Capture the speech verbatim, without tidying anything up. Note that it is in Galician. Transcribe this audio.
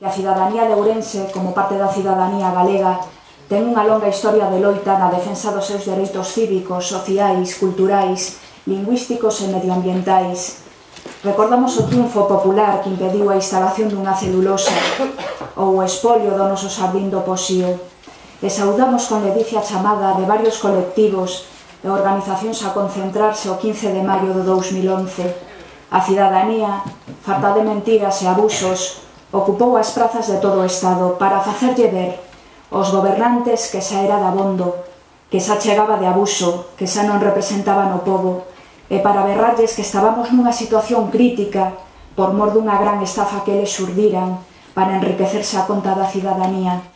A cidadanía de Ourense, como parte da cidadanía galega, ten unha longa historia de loita na defensa dos seus dereitos cívicos, sociais, culturais, lingüísticos e medioambientais. Recordamos o triunfo popular que impediu a instalación dunha celulosa ou o espolio do noso xardín do Poxío. E saudamos con ledicia a chamada de varios colectivos e organizacións a concentrarse o quince de maio do dous mil once. A cidadanía, farta de mentiras e abusos, ocupou as prazas de todo o Estado para facerlle ver aos gobernantes que xa era dabondo, que xa chegaba de abuso, que xa non representaban o pobo, e para berrarlles que estábamos nunha situación crítica por mor dunha gran estafa que eles xurdiran para enriquecerse a conta da cidadanía.